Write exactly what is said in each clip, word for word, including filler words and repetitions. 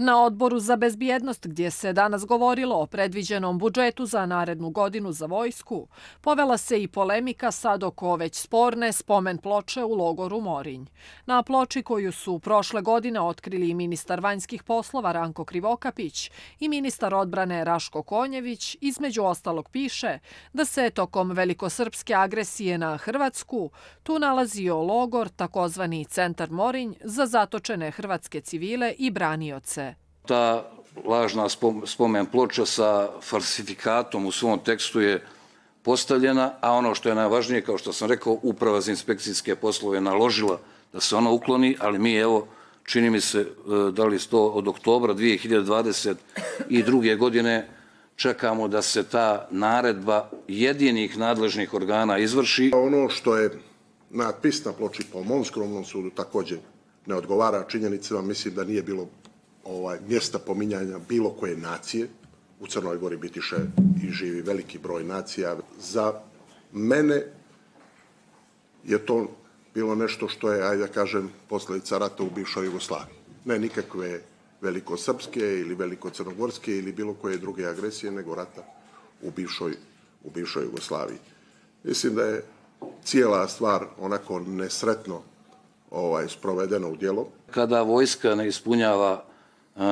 Na Odboru za bezbjednost, gdje se danas govorilo o predviđenom budžetu za narednu godinu za vojsku, povela se i polemika sad oko već sporne spomen ploče u logoru Morinj. Na ploči koju su prošle godine otkrili ministar vanjskih poslova Ranko Krivokapić i ministar odbrane Raško Konjević, između ostalog piše da se tokom velikosrpske agresije na Hrvatsku tu nalazio logor, takozvani Centar Morinj, za zatočene hrvatske civile i branioce. Ta lažna spomen ploča sa falsifikatom u svom tekstu je postavljena, a ono što je najvažnije, kao što sam rekao, Uprava za inspekcijske poslove naložila da se ona ukloni, ali mi, evo, čini mi se, da li to od oktobra dvije hiljade dvadeset druge. godine čekamo da se ta naredba jedinih nadležnih organa izvrši. Ono što je natpis na ploči po mom skromnom sudu također ne odgovara činjenicama, mislim da nije bilo Ovaj, mjesta pominjanja bilo koje nacije. U Crnoj Gori bitiše i živi veliki broj nacija. Za mene je to bilo nešto što je, ajde da kažem, posljedica rata u bivšoj Jugoslaviji. Ne nikakve velikosrpske ili velikocrnogorske ili bilo koje druge agresije, nego rata u bivšoj, u bivšoj Jugoslaviji. Mislim da je cijela stvar onako nesretno ovaj, sprovedena u djelo. Kada vojska ne ispunjava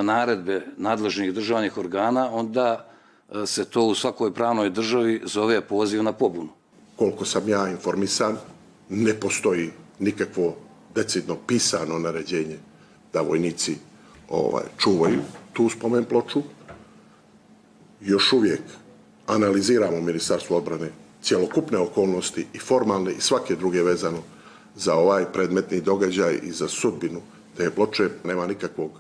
naredbe nadležnih državnih organa, onda se to u svakoj pravnoj državi zove poziv na pobunu. Koliko sam ja informisan, ne postoji nikakvo decidno pisano naređenje da vojnici ovaj, čuvaju tu spomen ploču. Još uvijek analiziramo u Ministarstvu odbrane cjelokupne okolnosti i formalne i svake druge vezano za ovaj predmetni događaj i za sudbinu te ploče. Nema nikakvog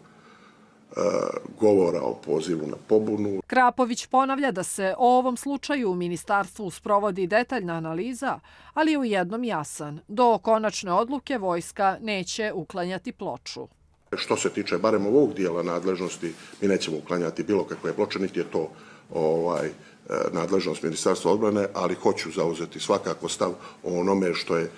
govora o pozivu na pobunu. Krapović ponavlja da se o ovom slučaju u ministarstvu sprovodi detaljna analiza, ali je u jednom jasan. Do konačne odluke vojska neće uklanjati ploču. Što se tiče barem ovog dijela nadležnosti, mi nećemo uklanjati bilo kakve ploče, niti je to ovaj, nadležnost Ministarstva odbrane, ali hoću zauzeti svakako stav o onome što je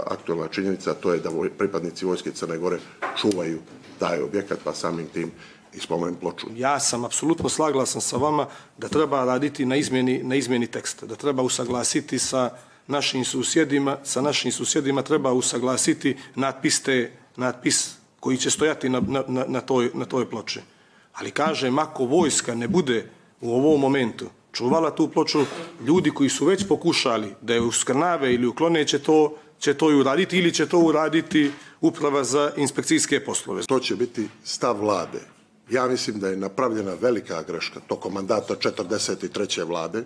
aktualna činjenica, to je da pripadnici vojske Crne Gore čuvaju taj objekat, pa samim tim i spomen ploču. Ja sam apsolutno slaglasan sa vama da treba raditi na izmjeni, na izmjeni teksta, da treba usaglasiti sa našim susjedima, sa našim susjedima treba usaglasiti natpis, te, natpis koji će stojati na, na, na, toj, na toj ploči. Ali kažem, ako vojska ne bude u ovom momentu čuvala tu ploču, ljudi koji su već pokušali da je uskrnave ili uklone će to, će to i uraditi ili će to uraditi Uprava za inspekcijske poslove. To će biti stav vlade. Ja mislim da je napravljena velika greška tokom mandata četrdeset treće vlade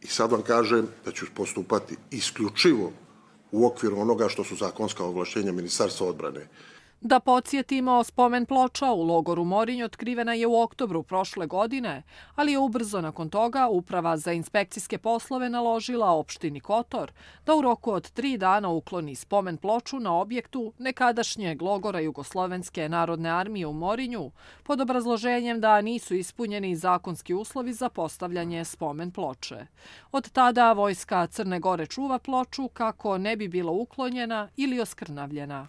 i sad vam kažem da ću postupati isključivo u okviru onoga što su zakonska ovlaštenja Ministarstva odbrane. Da podsjetimo, spomen ploča u logoru Morinj otkrivena je u oktobru prošle godine, ali je ubrzo nakon toga Uprava za inspekcijske poslove naložila opštini Kotor da u roku od tri dana ukloni spomen ploču na objektu nekadašnjeg logora Jugoslovenske narodne armije u Morinju pod obrazloženjem da nisu ispunjeni zakonski uslovi za postavljanje spomen ploče. Od tada vojska Crne Gore čuva ploču kako ne bi bila uklonjena ili oskrnavljena.